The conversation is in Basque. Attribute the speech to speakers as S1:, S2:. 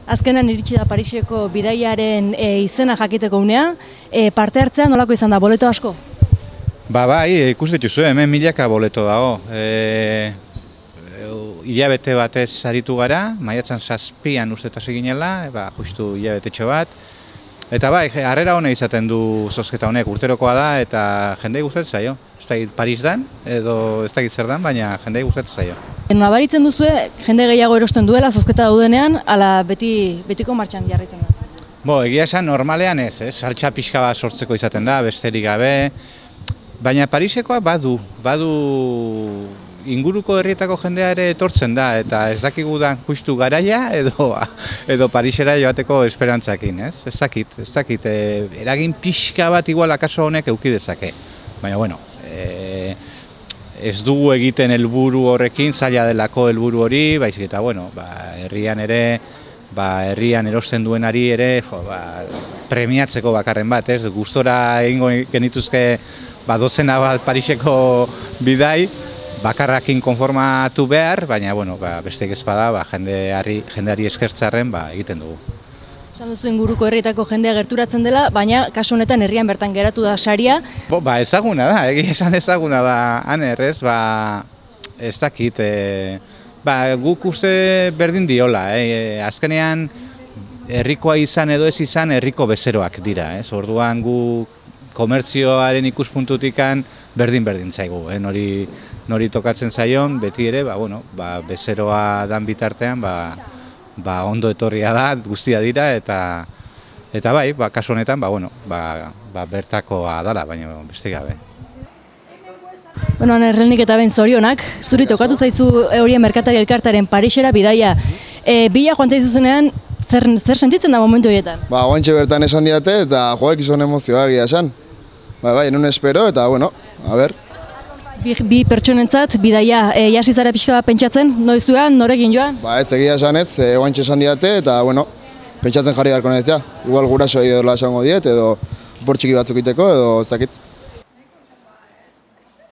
S1: Azkenan iritsi da Pariseko bidaiaren izena jakiteko unea, parte hartzea nolako izan da, boleto asko?
S2: Bai, ikus dituzu, hemen milaka boleto dago. Hilabete batez aritu gara, maiatzan 7an uste eta seginela, justu hilabetetxo bat. Eta bai, harrera hona izaten du zozketa honek, urterokoa da eta jendei gustatzen zaio. Ez dakit Paris dan, edo ez dakit zer dan, baina jendei gustatzen zaio.
S1: Nabaritzen duzue, jende gehiago erosten duela zozketa daudenean, ala betiko martxan jarraitzen da?
S2: Egia esan normalean ez, saltxa pixka bat sortzeko izaten da, besterik gabe. Baina Parisekoa badu inguruko herrietako jendea ere etortzen da, eta ez dakigu da justu garaia edo Parisera joateko esperantzakin, ez? Ez dakit, eragin pixka bat igual akaso honek eduki dezake. Baina, bueno, ez dugu egiten helburu horrekin, zaila delako helburu hori, baizik eta, bueno, herrian ere, herrian erosten duenari ere, premiatzeko bakarren bat, ez? Gustora egingo genituzke dozena bat Pariseko bidai, bakarrakin konformatu behar, baina besteik ez bada jendeari eskertzarren egiten dugu.
S1: Esan duzu inguruko herrietako jendea gerturatzen dela, baina kasu honetan herrian bertan geratu da saria.
S2: Ezaguna da, egia esan ezaguna da, Aner, ez? Ez dakit, guk uste berdin diola, azkenean herrikoa izan edo ez izan herriko bezeroak dira, ez? Orduan guk komertzioaren ikuspuntutikan berdin zaigu, nori tokatzen zaion, beti ere, bezeroa dan bitartean, ondo etorria da, guztia dira, eta bai, kasu honetan, bertakoa dala, baina beste gabe.
S1: Errenik eta ben zorionak, zuri tokatu zaizu horien merkatari elkartaren Parisera bidaia. Bila joan zaizuzenean, zer sentitzen da momentu horietan?
S3: Oantxe bertan esan diate, eta joak izan emozioa egia esan. Non espero, eta, a ber.
S1: Bi pertsonentzat, bidaia, jasi zara pixka bat pentsatzen, noiz duan, norekin joan?
S3: Ez egia esan ez, oantxe esan diate, eta, pentsatzen jarri darko nahiz, igual guraso edo esango diet, edo bortxiki batzuk iteko, edo ez dakit.